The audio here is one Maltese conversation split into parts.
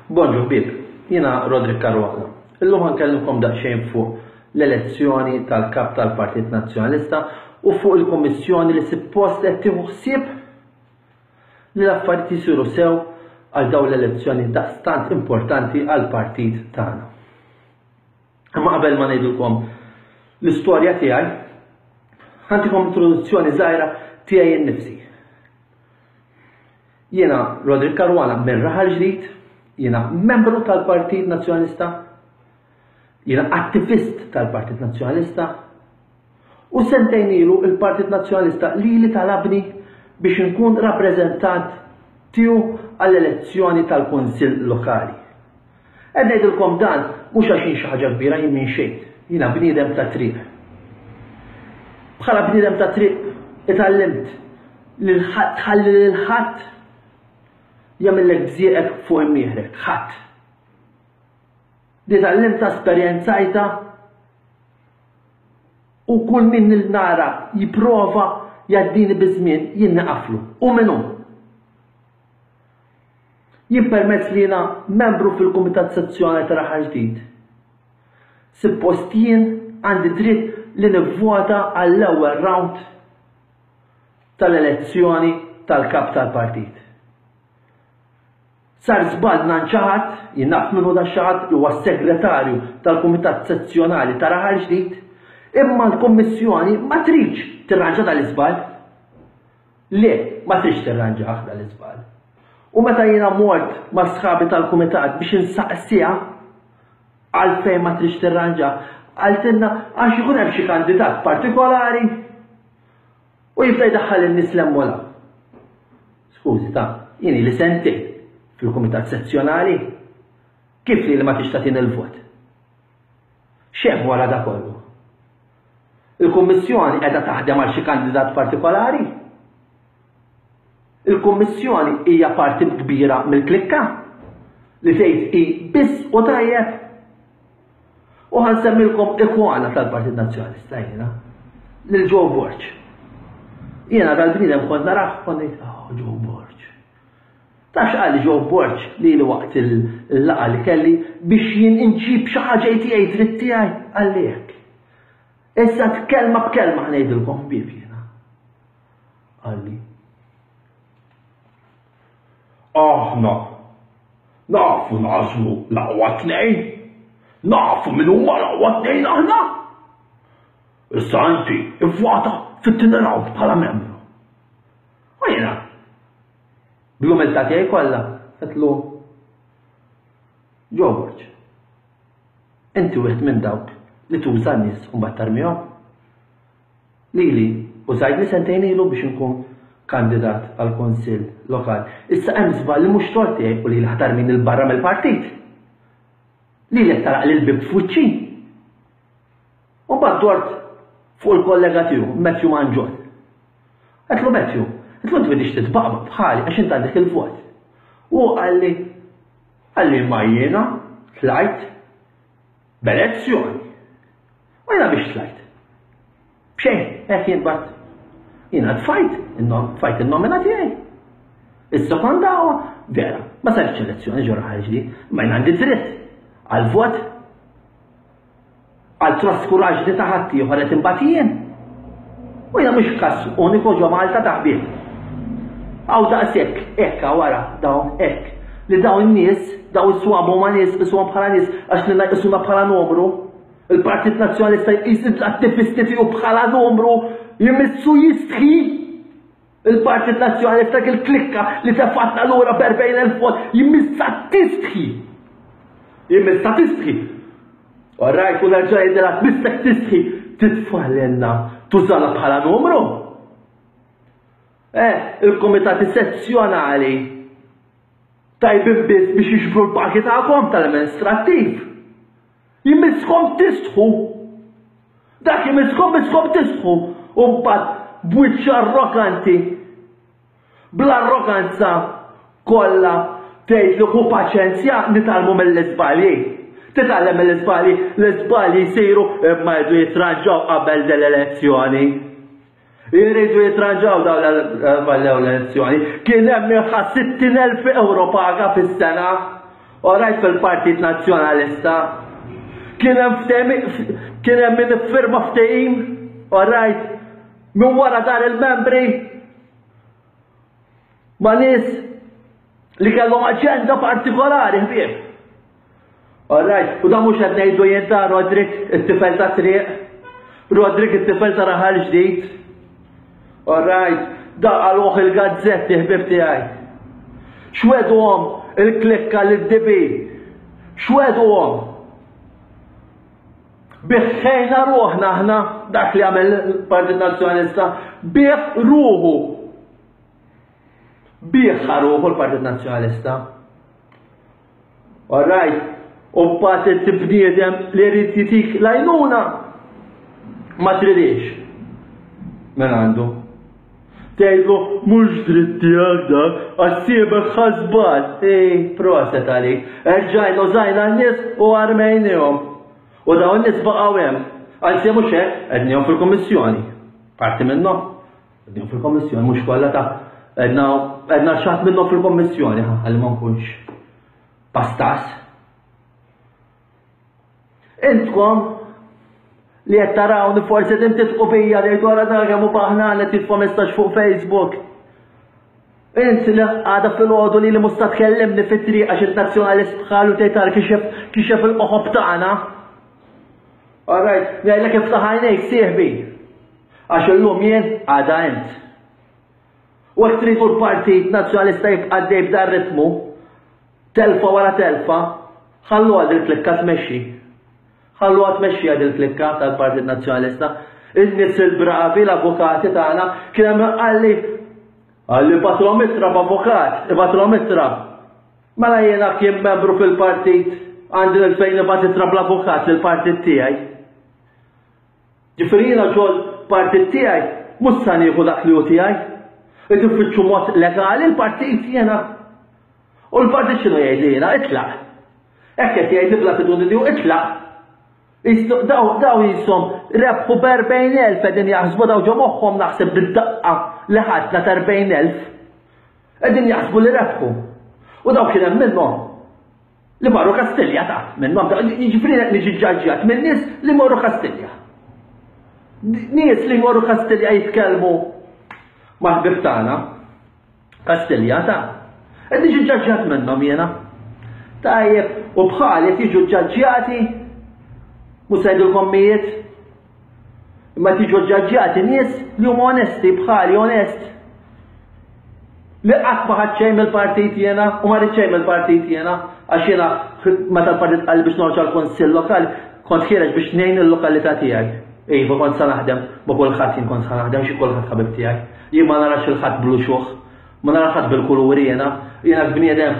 Bonġu ħbieb, jiena Roderick Caruana. Illum ħa nkellimkom daqsxejn fuq l-elezzjoni tal-Kap tal-Partit Nazzjonalista u fuq il-Kummissjoni li suppost qed tieħu ħsieb li l-affarijiet isiru sew għal dawn l-elezzjoni daqstant importanti għall-partit tagħna. Imma qabel ma ngħidilkom l-istorja tiegħi, ħantikom introduzzjoni żgħira tiegħi innifsi. Jiena Roderick Caruana minn Raħal Ġdid, jiena membru tal-Partit Nazzjonalista, jiena attivist tal-Partit Nazzjonalista u sentejn ilu il-Partit Nazzjonalista lili talabni biex inkun rappreżentant tiegħu għall-elezzjoni tal-Kunsill Lokali. Qed ngħidilkom dan mhux għax jien xi ħaġa kbira jien minn xejn. Jiena bniedem ta' triq. Bħala bniedem ta' triq itgħallimt li tħalli lil ħadd jagħmillek bżieqek fuq imnieħrek. Ħadd. Di tgħallimtha esperjenzajtha u kull min nara jipprova jgħaddini biż-żmien jien niqaflu. U min hu. Jien permezz li jiena membru fil-Kumitat Sezzjonali ta' Raħal Ġdid, suppost jien għandi dritt li nivvota għall-ewwel round tal-elezzjoni tal-kap tal-partit. Sar żball mingħand xi ħadd, jien naf min hu dak xi ħadd li huwa s-segretarju tal-Kumitat Sezzjonali ta' Raħal Ġdid, imma l-Kummissjoni ma tridx tirranġa dal-iżball. Le, ma tridx tirranġah dan l-iżball. U meta jiena mort ma' sħabi tal-kumitat biex insaqsiha għalfejn ma tridx tirranġah, qaltilna għax ikun hemm xi kandidat partikolari u jibda jdaħħal in-nies 'l hemm u 'l hawn. Skużi ta, jien ili sentejn fil-kumitat sezzjonali, kif lili ma tridx tagħtini l-vot? X'hemm wara da kollu? Il-Kummissjoni qiegħda taħdem għal xi kandidat partikolari? Il-Kummissjoni hija parti kbira mill-klikka li tgħid hi biss u tajjeb? U ħa nsemmilkom ikwana tal-Partit Nazzjonalista jiena, lil Joe Borg. Jiena dal-bniedem kont narah kont ngħid, oh Joe Borg. Taf x'qalli Joe Borg lili waqt il-laqgħa li kelli biex jien inġib xi ħaġa tiegħi dritt tiegħi? Qalli hekk. Issa kelma b'kelma ħnejdilkom ħbieb jiena. Qalli. Aħna nafu nagħżlu l-aqwa tnejn. Nafu min huma l-aqwa tnejn aħna. Issa inti ivvota fit-tieni round bħala membru. U jiena Bl-umiltà tiegħi kollha, għedtlu, Joe Borg, inti wieħed minn dawk li tuża n-nies u mbagħad tarmihom. Lili użajtni sentejn ilu biex inkun kandidat għal kunsill lokali. Issa hemm żball li mhux tort tiegħi u lili ħa tarmini 'l barra mill-partit. Lili qed tagħlaqli l-bieb f'wiċċi. U mbagħad dort fuq il-kollega tiegħu, Matthew Mangion. Għedtlu Matthew, għedtlu inti m'intix titbaqbaq bħali għax int għandek il-vot. U hu qalli, qalli imma jiena tlajt b'elezzjoni. U jiena biex tlajt? B'xejn, hekk jien bat. Jiena tfajt, tfajt in-nomina tiegħi. Is-sekondawa, vera, ma saritx elezzjoni ġo raħal ġdid, ma jien għandi dritt għal vot Għal traskuraġni ta' ħaddieħor qed inbati jien. U jiena mhux każ uniku ġo Malta ta' ħbieb. Hawn daqshekk, hekk hawn wara dawn hekk. Li dawn in-nies, dawn is-swaba huma nies, qisuhom bħala nies għax lilna jqisuna bħala numru. Il-Partit Nazzjonalista jqis l-attivisti tiegħu bħala numru, jmissu jistħi. Il-Partit Nazzjonalista dik il-klikka li tefatna lura b'40,000 vot jmissha tistħi. Jmissha tistħi. Orrajt u nerġa' ngħidilha tmissek tistħi titfa' lilna tużana bħala numru. Eh, il-komitati sezzjonali tajbin biss biex jiġbru l-pagi tagħkom tal-amministrattiv. Jmisskom tistħu. Dak imisskom misskom tistħu u mbagħad b'wiċċ arroganti bl-arroganza kollha tgħid li ħu paċenzja nitgħallmu mill-iżbalji. Titgħallem mill-iżbalji, l-iżbalji jsiru imma jridu jitranġaw qabel dell-elezzjoni. Jridu jitranġaw dawn l-elezzjoni. Kien hemm min ħa 60,000 euro paga fis-sena. Orajt fil-Partit Nazzjonalista kien hemm kien hemm min iffirma ftehim, orajt, minn wara dar il-membri ma' nies li kellhom aġenda partikolari ħbieb. Alright, u da mhux qed ngħidu jien ta' Rodrik it-tifel ta' triq, Rodrik it-tifel ta' raħal ġdid. Alright, da qaluh il-gazzetti ħbib tiegħi. X'wegħduhom il-klikka lid-DB? X'wegħduhom? Biħħejna ruħna aħna dak li għamel il-Partit Nazzjonalista, bih ruħu. Biħħa ruħu l-Partit Nazzjonalista. All right, u mbagħad inti bniedem li jrid jitik l-għajnuna ma tridix. Minn għandu. Tgħidlu mhux dritt tiegħek dak, għax siebek ħasbal. Ej, proset għalik. Erġajna użajna n-nies u armejnihom. U dawn n-nies baqgħu hemm. Anzi mhux hekk, qednihom fil-kummissjoni. Parti minnhom. Qegħdin fil-kommissjoni, mhux kollha ta' għedna għedna xaħat minnhom fil-kommissjoni, ħalli ma nkunx pastas. Intkom li qed tarawni forsi qed titqu bija li wara dak hemm u baħna qed jitfa' messaġġ fuq Facebook. Int li għada fil-ħodu li li musta tkellimni fit-triq għax il-nazzjonalist bħalu tgħid kixef kixef il-qoħob tagħna. All right, ngħidlek iftaħ għajnejk sieħbi. Għax illum jien, għada int. U jekk tridu l-Partit Nazzjonalista jibqa' għaddej b'dan ritmu, telfa wara telfa, ħalluha dil-klikka tmexxi. Ħalluha tmexxi dil-klikka tal-Partit Nazzjonalista. In-nies il-bravi, l-avukati tagħna, kien hemm qalli qalli batlhom ittra b'avukat, ibatlhom ittra. Mela jiena kien membru fil-partit għandi l-fejn ibgħat ittra bl-avukat lill-partit tiegħi. Ġifieri jiena ġol partit tiegħi mhux sa nieħu dak li hu tiegħi. Qed infittxu mod legali l-partit jiena. U l-partit x'inhu jgħidli jiena itlaq. Hekk qed jgħidli bl-attitudni tiegħu itlaq. Daw daw jisom rebħu b'40,000 qegħdin jaħsbu daw ġo moħħhom naħseb bid-daqqa li ħadna ta' 40,000. Qegħdin jaħsbu li rebħu. U daw kien hemm minnhom Li marru Kastilja ta' minnhom jiġifieri qed niġi ġġaġġjat minn nies li morru Kastilja. Nies li morru Kastilja jitkellmu mal-ħbieb tagħna. Kastilja ta' qed niġi ġġaġġjat minnhom jiena. Tajjeb, u bħali qed jiġu ġġaġġjati mhux se ngħidulkom mijiet, Imma tiġu ġġaġġjati nies li huma onesti bħali onest. Li qatt ma ħadd xejn mill-partit jiena u ma rrid xejn mill-partit jiena għax jiena meta l-partit qal biex noħroġ għall-kunsill lokali kont ħiereġ biex ngħin il-lokalità tiegħi. Iva kont sa naħdem ma kulħadd jien kont sa naħdem xi kulħadd ħabib tiegħi. Jien ma narax il-ħadd bl-uxuħ, ma nara ħadd bil-kuluri jiena, jiena bniedem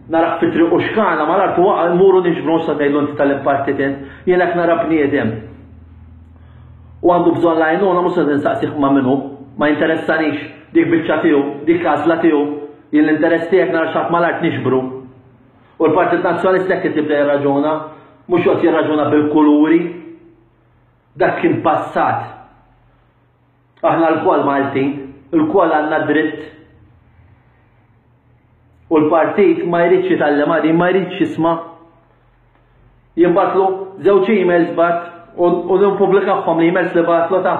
narah fit-triq u xkana mal-art u waqa' mmuru niġbru mhux se ngħidlu inti tal-impartit int, jien hekk nara bniedem. U għandu bżonn l-għajnuna mhux se nistaqsih ma' min hu, ma jinteressanix dik biċċa tiegħu, dik għażla tiegħu, jien l-interess tiegħek nara xi ħadd mal-art niġbru. U l-Partit Nazzjonalista hekk qed jibda jirraġuna, mhux joqgħod jirraġuna bil-kuluri. Dak kien passat. Aħna lkoll Maltin, ilkoll għandna dritt. U l-partit ma jridx jitgħallem din, ma jridx jisma'. Jien batlu żewġ emails bat u nippubblikahom l-emails li batlu ta'.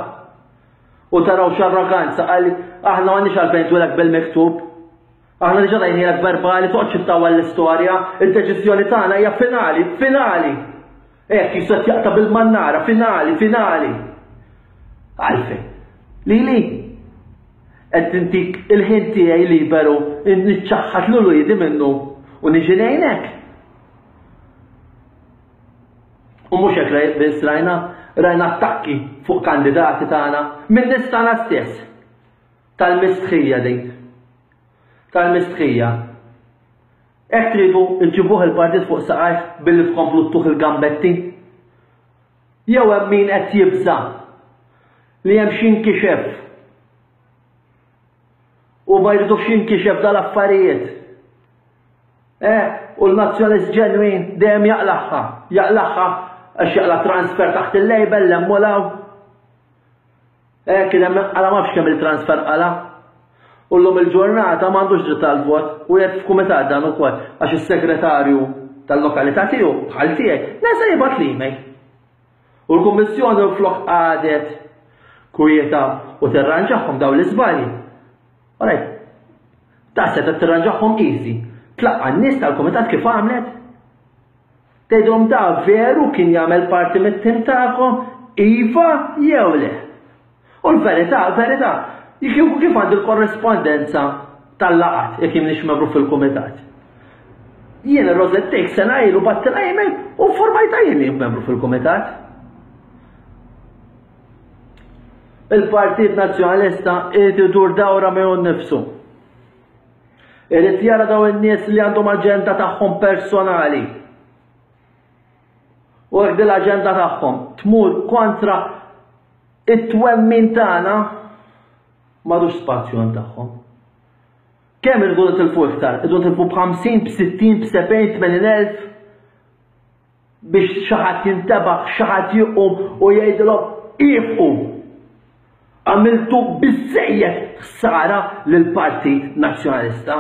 U taraw x'arroganza qal aħna m'għandniex għalfejn twilek bil-miktub. Aħna diġà tajnielek verbali, toqgħodx ittawwal l-istorja, id-deċiżjoni tagħna hija finali, finali. Hekk qisu qed jaqta' bil-mannara, finali, finali. Għalfejn? Lili? Qed intik il-ħin tiegħi liberu, niċċaħħad lil uliedi minnu u niġi ngħinek. U mhux hekk biss rajna, rajna attakki fuq kandidati tagħna minn nies tagħna stess. Tal-mistħija din. Tal-mistħija. Hekk tridu ġġibuh il-partit fuq saqajh billi tkomplu ttuh il-gambetti? Jew hemm min qed jibża' li hemm x'inkixef u ma jridux jinkixef dal-affarijiet? Eh, u l-nazzjonalist ġenwin dejjem jaqlagħha, jaqlagħha għax jaqla' transfer taħt il-label 'l hemm u 'l hawn. Eh, kien hemm qala ma nafx kemm il-transfer qala. U llum il-ġurnata m'għandux dritt għall-vot u qiegħed f'kumitat dan ukoll għax is-segretarju. tal-lokalità tiegħu bħal tiegħi, nesa jibgħat l-email. U l-Kummissjoni flok qagħdet kwieta u tirranġahom dawn l-iżbalji. Alright. Ta' seta tirranġahom easy. Tlaqqa' n-nies tal-kumitat kif għamlet? Tgħidhom da veru kien jagħmel parti mit-tim tagħkom, iva jew le. U l-verità, verità, kieku kif għandi l-korrespondenza tal-laqat jekk jien membru fil-kumitat. Jien ir-Rosette sena ilu battilha email u informajta jien li membru fil-kumitat. Il-Partit Nazzjonalista irid idur dawra miegħu nnifsu. Irid jara daw in-nies li għandhom aġenda tagħhom personali. U jekk din l-aġenda tagħhom tmur kontra it-twemmin tagħna m'għadux spazju għand tagħhom. Kemm irridu nitilfu iktar? Irridu nitilfu b'50, b'60, b'70, 80 elf biex xi ħadd jintebaħ, xi ħadd jqum u jgħidilhom ifqu. Għamiltu biżejjed ħsara lill-Partit Nazzjonalista.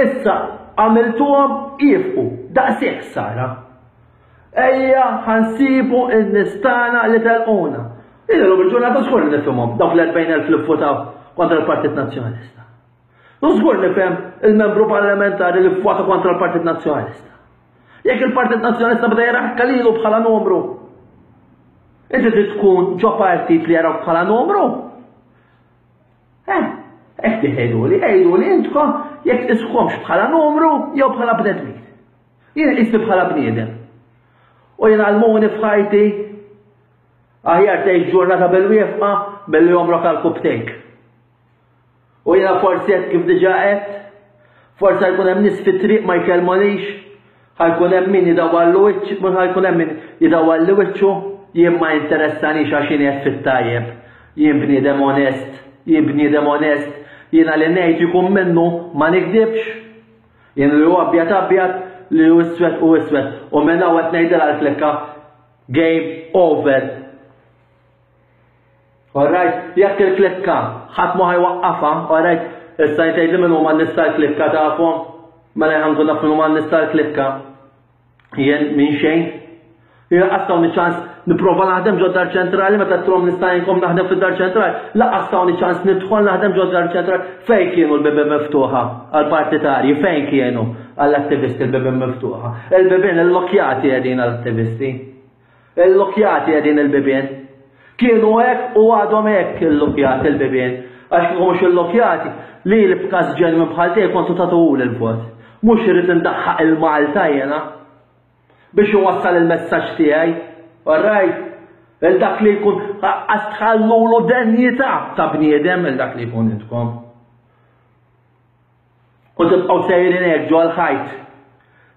Issa għamiltuhom ifqu daqshekk ħsara. Ejja ħansibu n-nies tagħna li telquna. Illum il-ġurnata żgur li nifhimhom dawk l-40,000 li vvotaw kontra l-Partit Nazzjonalista. U żgur nifhem il-membru parlamentari li vvota kontra l-Partit Nazzjonalista. Jekk il-Partit Nazzjonalista beda jaraħka lilu bħala numru, inti trid tkun ġo partit li jarawk bħala numru? Eh, hekk tgħiduli, għiduli intkom jekk iskomx bħala numru jew bħala bnedmin. Jien qisni bħala bniedem. U jien għallmuni f'ħajti aħjar tgħix ġurnata bil-wieqfa milli għomrok għal kubtejk. U jiena forsi qed kif diġà għedt, forsi ħajkun hemm nies fit-triq ma jkellmunix, ħajkun hemm min jidawwarlu wiċċ, mhux ħajkun hemm min jidawwarli wiċċu, jien ma jinteressanix għax jien qed fit-tajjeb. Jien bniedem onest, jien bniedem onest, jiena li ngħid jkun minnu ma nikdibx. Jien li hu abjad abjad, li hu iswed hu iswed. U minn hawn qed ngħidilha l-klikka game over. Alright, jekk il-klikka ħadd ma ħajwaqqafha, alright, issa jtgħidli min huma n-nies tal-klikka tafhom? Mela jien nkun naf min huma n-nies tal-klikka. Jien minn xejn. Jien qas tawni ċans nipprova naħdem ġod dar ċentrali meta trom nista' jinkom naħdem fid-dar ċentrali. Lanqas tawni ċans nidħol naħdem ġod dar ċentrali. Fejn kienu l-bibien miftuħa għall-partitarji? Fejn kienu għall-attivisti l-bibien miftuħa? Il-bibien illokjati qegħdin għall-attivisti. Illokjati qegħdin il-bibien. Kienu hekk u għadhom hekk illokjati l-bibien. Għax kieku mhux illokjati, lili b'każ ġenwin bħal tiegħi kontu tagħtuhuli l-vot. Mhux irrid indaħħaq il-Malta jiena biex iwassal il-messaġġ tiegħi. All right? Il dak li jkun għas tħallulu denjità ta' bniedem il dak li jkun intkom. U tibqgħu sejrin hekk ġol-ħajt.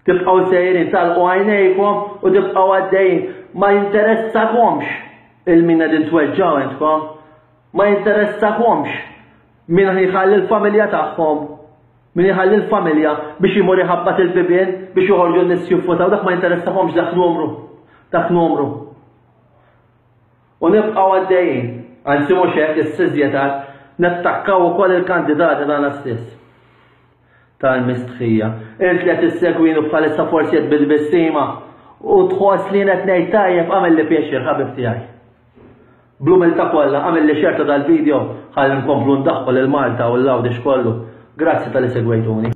Tibqgħu sejrin tagħlqu għajnejkom u tibqgħu għaddejjin. Ma jinteressakomx il-min qegħdin tweġġgħu intkom. Ma jinteressakomx min jħalli l-familja tagħhom. Min jħalli l-familja biex imur iħabbat il-bibien biex joħorġu n-nies jivvutaw dak ma jinteressakomx dak numru. Dak numru. U nibqgħu għaddejjin, anzi mhux hekk issa iżjed nattakkaw ukoll il-kandidati tagħna stess. Tal-mistħija. Int li qed issegwini bħalissa forsi qed bil-tbissima u tħoss li jien qed ngħid tajjeb agħmilli pjaċir ħabib tiegħi. Bl-umiltà kollha agħmilli share ta' dal-video ħalli nkomplu ndaħħu lil Malta u l-Għawdex kollu. Grazzi talli segwejtuni.